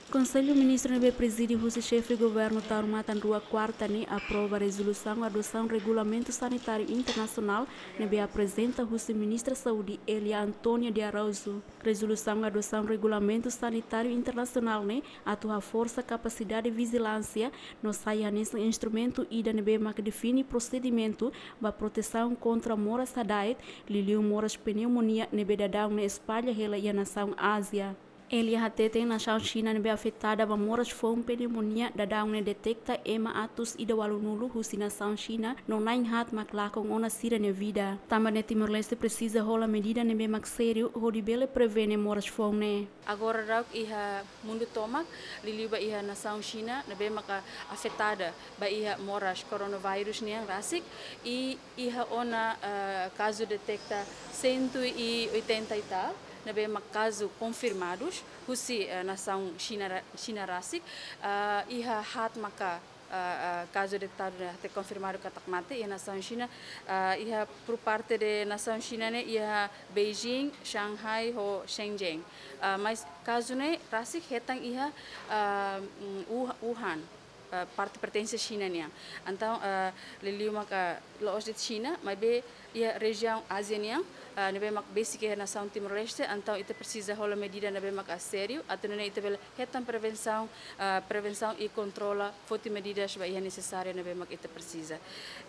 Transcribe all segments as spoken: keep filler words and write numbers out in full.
Konsellu Ministru ne'ebé prezide husi Xefe Governu Taur Matan Ruak, kuarta ne'e aprova rezolusaun adosaun regulamentu sanitáriu internasionál ne'ebé aprezenta husi Ministra Saúde Elia Antónia de Araújo. Rezolusaun adosaun regulamentu sanitáriu internasionál ne'e atu haforsa kapasidade vijilánsia no sai hanesan instrumentu ida ne'ebé mak define prosedimentu ba protesaun kontra moras hada'et, liuliu moras pneumonia ne'ebé daudaun ne'e espalla hela iha nasaun Ázia. Elia hateten nasaun Xina ne'ebé afetada ba moras foun pneumonia daudaun ne'e deteta ema atus ida ualunulu husi nasaun Xina no na'in haat mak lakon ona sira-nia vida. Tanba ne'e Timor-Leste presiza hola medida ne'ebé mak sériu hodi bele prevene moras foun ne'e. Agora daudaun iha mundu tomak, liuliu ba iha nasaun Xina ne'ebé maka afetada ba iha moras coronavírus nian rasik, i iha ona, eh, kazu deteta cento e oitenta e tal, ne'ebé mak kazu konfirmadus husi, eh, nasaun Xina ra-, Xina rasik, eh, iha haat maka, eh, eh, kazu deteta ne'e konfirmadu katak mate iha nasaun Xina, eh, iha por parte de nasaun Xina ne'e iha Beijing, Shanghai ho Shenzhen. Eh, mais kazu ne'e rasik hetan iha, eh, mm, Wuh-, Wuhan, eh, parte pertense Xina nian. Entaun, eh, liuliu maka la'ós de'it Xina, maibé iha rejiaun Ázia nian, eh, ne'ebé mak besik iha nasaun Timor-Leste, entaun ita presiza hola medida ne'ebé maka sériu, atu nune'e ita bele hetan prevensaun, eh, prevensaun i kontrola, foti medidas ba iha nesesáriu ne'ebé mak ita presiza.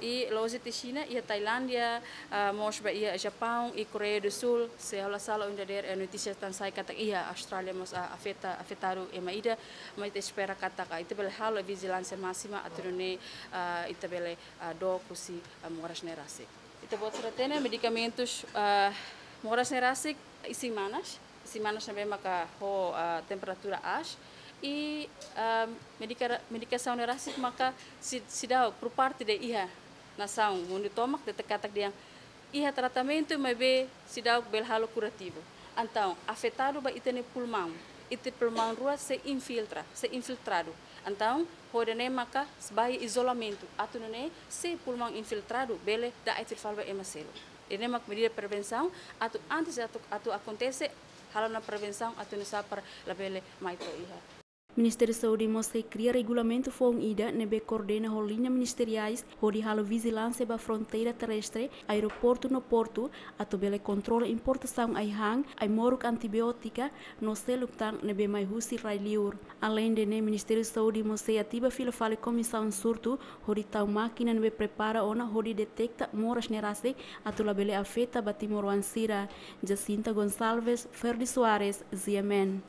I la'ós de'it Xina, iha Tailándia, eh, mós ba iha Japaun i Koreia do Sul, se ha'u la sala ohin dadeer, eh, notísia tan sai katak iha Austrália mós, ah, afeta, afetadu ema ida, maibé ita espera katak, ah, ita bele halo vijilánsia másima, atu nune'e, ah, ita bele, ah, dook husi, ah, moras ne'e rasik. Ita-boot sira hatene medikamentus, ah, moras ne'e rasik isin-manas, isin-manas ne'ebé maka ho, ah, temperatura aas, i, ah, medika-, medikasaun ne'e rasik maka si-, seidauk por parte de iha nasaun mundu tomak deteta katak dehan iha tratamentu maibé seidauk bele halo kurativu. Entaun, afetadu ba ita-nia pulmaun, ita pulmaun rua sei infiltra, sei infiltradu. Entaun, hodi nune'e maka ba iha izolamentu, atu nune'e se pulmaun infiltradu bele da'et fali ba ema seluk. Ida-ne'e mak medida prevensaun, atu antes atu, atu akontese, halo ona prevensaun atu nune'e para labele mai to'o iha. Ministériu Saúde mós sei kria regulamentu foun ida ne'ebé koordena ho liña ministeriais hodi halo vijilánsia ba fronteira terrestre, aeroportu no portu, atu bele kontrola importasaun ai-han, ai-moruk antibiótika no seluk tan ne'ebé mai husi rai-liur. Aleinde ne'e, Ministériu Saúde mós sei ativa fila fali komisaun surtu hodi tau mákina ne'ebé prepara ona hodi deteta moras ne'e rasik atu labele afeta ba timoroan sira. Jacinta Gonçalves, Ferdi Soares, G M N.